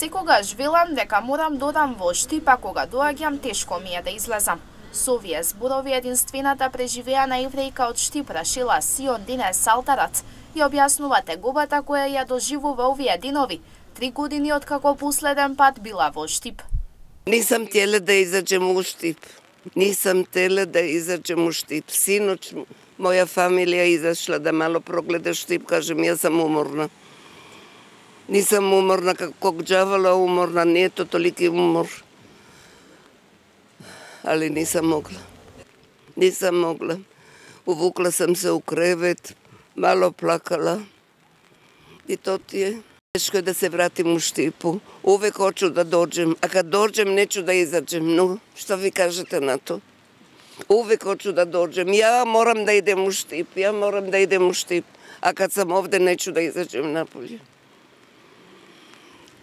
Секогаш велам дека морам да одам во Штип, а кога доаѓам тешко ми е да излезам. Со овие зборови единствената преживеана еврејка од Штип, Рашила Сион Дине Салтарац, ја објаснува тегобата која ја доживува овие денови, 3 години откако последен пат била во Штип. Нисам теле да изаđem у Штип. Нисам теле да изаđem у Штип. Синоќ моја фамилија изашла да мало прогледа Штип, кажем, јас сам уморна. Нисам уморна како ѓавола уморна, не е то толики умор. Али нисам могла. Нисам могла. Увукла сам се у кревет, мало плакала. И то ти е. Тешко е да се вратим у Штипу. Увек хочу да доđem, а кад доđem нечу да изаđem. Но, што ви кажете на то? Увек хочу да доđem. Ја морам да идем у Штип, ја морам да идем у Штип. А кад сам овде нечу да изаđem наполе.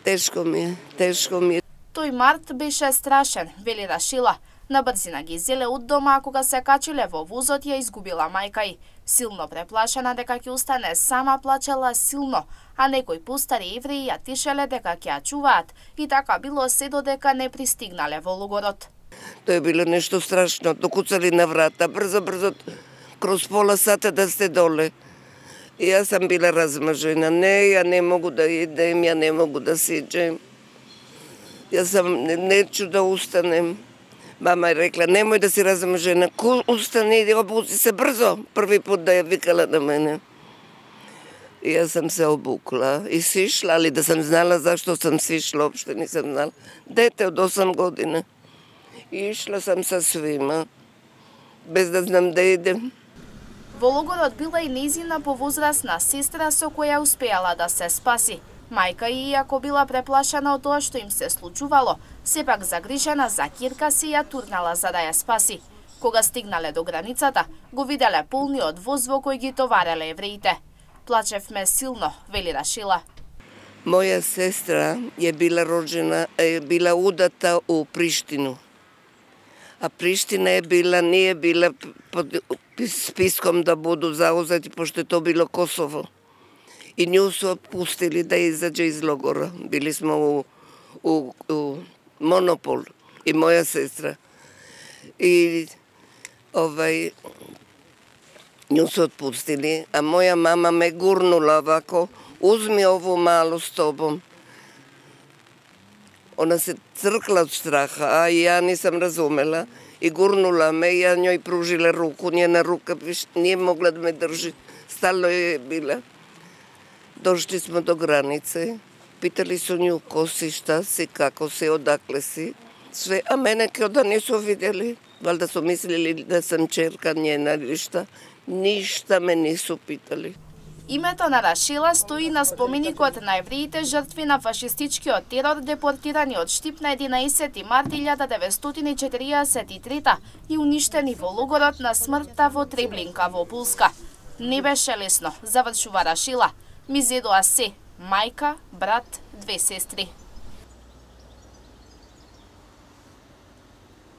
Тешко ми е, тешко ми е. Тој март беше страшен, вели Рашила. На брзина ги зеле од дома, а кога се качиле во возот ја изгубила мајка ѝ. Силно преплашена дека ќе остане сама, плачела силно, а некои постари евреи ја тишеле дека ќе ја чуваат, и така било се додека не пристигнале во логорот. Тоа е било нешто страшно, докуцали на врата, брзо, кроз пола сата да сте доле. И јас сам била размажена. Не, ја не могу да идем, ја не могу да сиđem. Јас сам нечу да устанем. Мама е рекла, немој да си размажена. Устани, иди, обуци се брзо. Први пут да ја викала на мене. И јас сам се обукла и сишла, али да сам знала зашто сам сишла, опште не сам знала. Дете од 8 година. И ишла сам со свима, без да знам да идем. Во логорот била и нејзина повозрасна сестра со која успеала да се спаси. Мајка и иако била преплашена од тоа што им се случувало, сепак загрижена за ќерка си ја турнала за да ја спаси. Кога стигнале до границата, го виделе полниот воз во кој ги товареле евреите. Плачевме силно, вели Рашила. Моја сестра е била роđена, била удата у Приштину. А Приштина е била, не е била под списком да буду заузети, пошто то било Косово. И нju се отпустили да изаđe из логора. Били смо у Монопол и моја сестра. И нju се отпустили, а моја мама ме гурнула вако, узми ово мало с тобом. Она се цркла од страха, а ја не сам разумела. И гурнула ме, ја њој пружила руку, njena рука не могла да ме држи, стално е била. Дошли смо до границе, питали со њу ко си, шта си, како си, одакле си. Све, а мене ке да не со видели, валда со мислили да сам черка njena или шта. Ништа ме не со питали. Името на Рашила стои на споменикот на евреите жртви на фашистичкиот терор депортирани од Штип на 11 март 1943 и уништени во логорот на смртта во Треблинка во Пулска. Не беше лесно, завршува Рашила. Ми зедоа се, мајка, брат, 2 сестри.